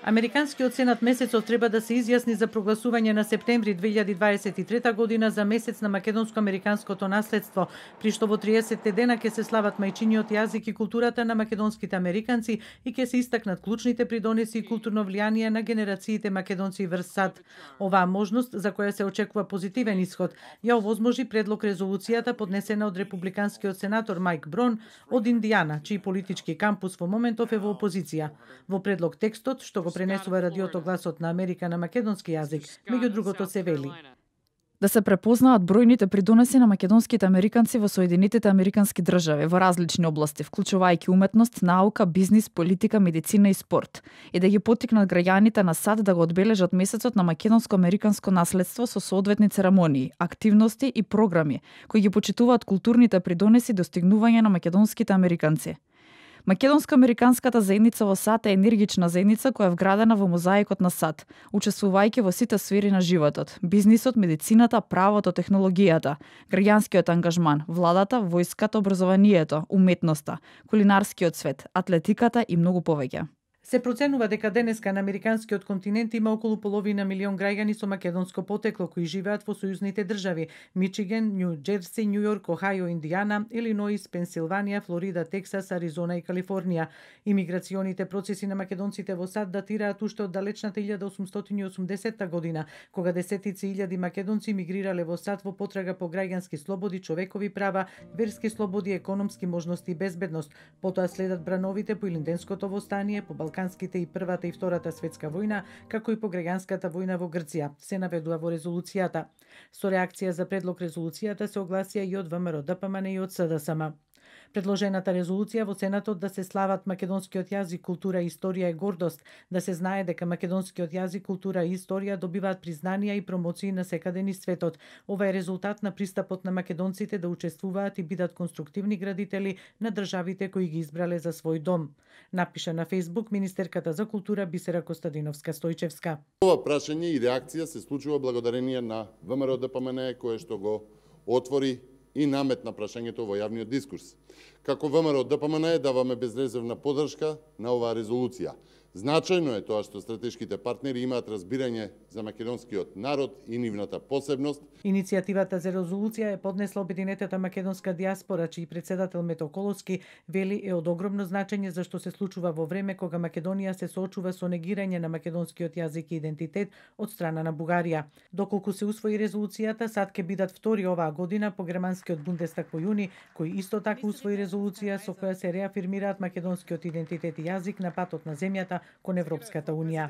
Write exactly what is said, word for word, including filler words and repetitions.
Американскиот сенат месецов треба да се изјасни за прогласување на септември две илјади дваесет и трета година за месец на македонско-американското наследство, при што во триесетте дена ќе се слават мајчиниот јазик и културата на македонските американци и ќе се истакнат клучните придонеси и културно влијание на генерациите македонци врз САД. Оваа можност, за која се очекува позитивен исход, ја овозможи предлог резолуцијата поднесена од републиканскиот сенатор Мајк Брон од Индијана, чиј политички кампус во моментов е во опозиција. Во предлог текстот, што го пренесува радиото Гласот на Америка на македонски јазик, меѓу другото се вели: да се препознаат бројните придонеси на македонските американци во Соединетите американски држави во различни области, вклучувајќи уметност, наука, бизнис, политика, медицина и спорт, и да ги поттикнат граѓаните на САД да го одбележат месецот на македонско-американско наследство со соодветни церемонии, активности и програми кои ги почитуваат културните придонеси и достигнување на македонските американци. Македонско-американската заедница во САД е енергична заедница која е вградена во мозаикот на САД, учествувајќи во сите сфери на животот: бизнисот, медицината, правото, технологијата, граѓанскиот ангажман, владата, војската, образованието, уметноста, кулинарскиот свет, атлетиката и многу повеќе. Се проценува дека денеска на американскиот континент има околу половина милион граѓани со македонско потекло кои живеат во сојузните држави: Мичиген, Њу Џерси, Њу Јорк, Охајо, Индијана, Илиноис, Пенсилванија, Флорида, Тексас, Аризона и Калифорнија. Имиграционите процеси на македонците во САД датираат уште од далечната илјада осумстотини и осумдесетта година, кога десетици илјади македонци мигрирале во САД во потрага по граѓански слободи, човекови права, верски слободи, економски можности и безбедност. Потоа следат брановите по Илинденското востание, по Балканските и Првата и Втората светска војна, како и по граѓанската војна во Грција, се наведува во резолуцијата. Со реакција за предлог резолуцијата се огласија и од ВМРО Д П М Н и од С D S M. Предложената резолуција во Сенатот да се слават македонскиот јазик, култура и историја е гордост, да се знае дека македонскиот јазик, култура и историја добиваат признанија и промоции на секаде низ светот. Ова е резултат на пристапот на македонците да учествуваат и бидат конструктивни градители на државите кои ги избрале за свој дом, напиша на Фејсбук министерката за култура Бисера Костадиновска-Стојчевска. Ова прашање и реакција се случува благодарение на ВМРО Д П М Н, кое што го отвори и наметна прашањето во јавниот дискурс. Како ВМРО Д П М Н даваме безрезервна поддршка на оваа резолуција. Значајно е тоа што стратешките партнери имаат разбирање за македонскиот народ и нивната посебност. Иницијативата за резолуција е поднесла Обединетата македонска дијаспора, чиј председател Мето Коловски вели е од огромно значење зашто се случува во време кога Македонија се соочува со негирање на македонскиот јазик и идентитет од страна на Бугарија. Доколку се усвои резолуцијата, САД ќе бидат втори оваа година по германскиот Бундестаг во јуни, кој исто така усвои резолуција со која се реафирмираат македонскиот идентитет и јазик на патот на земјата кон Европската унија.